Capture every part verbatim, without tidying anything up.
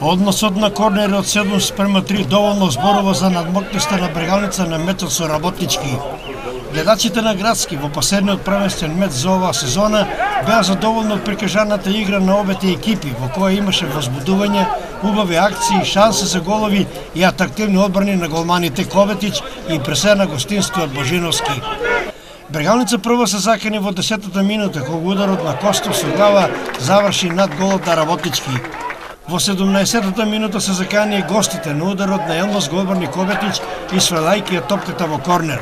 Односот на корнери од седум спрема три доволно зборува за надмокноста на Брегалница на мечот со Работнички. Гледачите на Градски во последниот првенствен меч за оваа сезона беа задоволни од прикажаната игра на обете екипи, во која имаше возбудување, убави акции, шанси за голови и атрактивни одбрани на голманите Коветич и пресе на гостинскиот Божиновски. Брегалница прво се закани во десетата минута, кога ударот на Костов со глава заврши над голот на Работнички. Во седумнаесеттата минута се закани и гостите на ударот на Елмос го одбрани Коветич и свалајќи ја топката во корнер.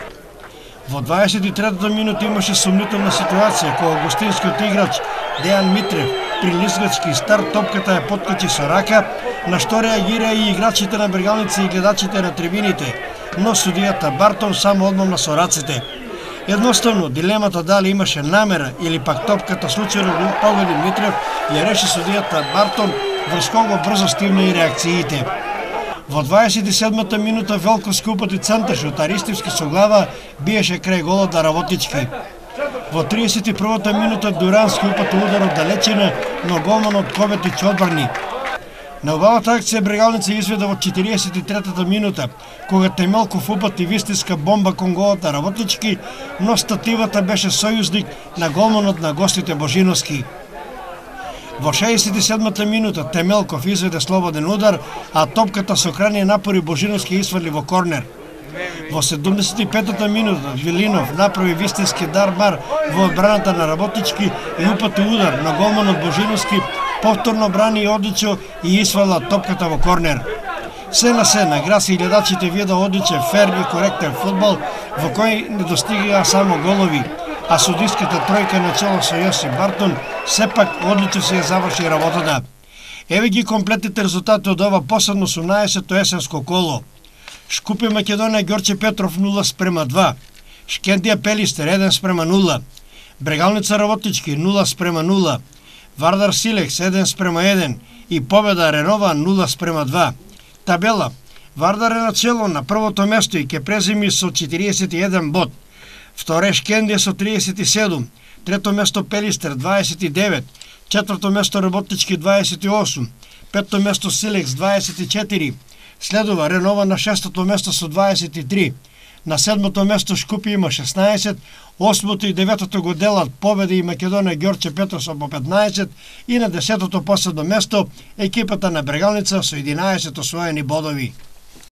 Во дваесет и третата минута имаше сумнителна ситуација кога гостинскиот играч Дејан Митрев при лизгачки старт топката ја поткачи со рака, на што реагира и играчите на Брегалница и гледачите на трибините, но судијата Бартон само одмамна со рацете. Едноставно, дилемата дали имаше намера или пак топката случајно го погоди Митрев ја реши судијата Бартон, врз кого брзо стивна и реакциите. Во дваесет и седмата минута Велковски упати центарш од Аристивски со глава биеше крај голот на Работнички. Во триесет и првата минута Дурански упати удар од далечина, но голманот Коветич одбрани. На убавата акција Брегалница изведе во четириесет и третата минута, кога Темелков упати вистинска бомба кон голот на Работнички, но стативата беше сојузник на голманот на гостите Божиновски. Во шеесет и седмата минута Темелков изведе слободен удар, а топката со крайни напори Божиновски извали во корнер. Во седумдесет и петата минута Вилинов направи вистински дармар во одбраната на Работнички и упати удар на голманот Божиновски, повторно брани одлично и извала топката во корнер. Се на се, на Градски гледачите вида одличен, фер и коректен фудбал, во кој не достигаа само голови, а судиската тројка на чело со Јосип Бартон сепак одлично се ја заврши работата. Еве ги комплетните резултати од ова последно осумнаесетто есенско коло. Шкупи Македонија Ѓорче Петров нула спрема два, Шкендија Пелистер еден спрема нула, Брегалница Работнички нула спрема нула, Вардар Силекс еден спрема еден и победа Ренова нула спрема два. Табела: Вардар е на чело на првото место и ќе преземи со четириесет и еден бод. Второ е Шкендија со триесет и седум, трето место Пелистер дваесет и девет, четврто место Работнички дваесет и осум, петто место Силекс дваесет и четири, следува Ренова на шестото место со дваесет и три, на седмото место Шкупи има шеснаесет, осмото и деветото го делат Победа и Македонија Ѓорче Петров со по петнаесет и на десетото последно место екипата на Брегалница со единаесет освоени бодови.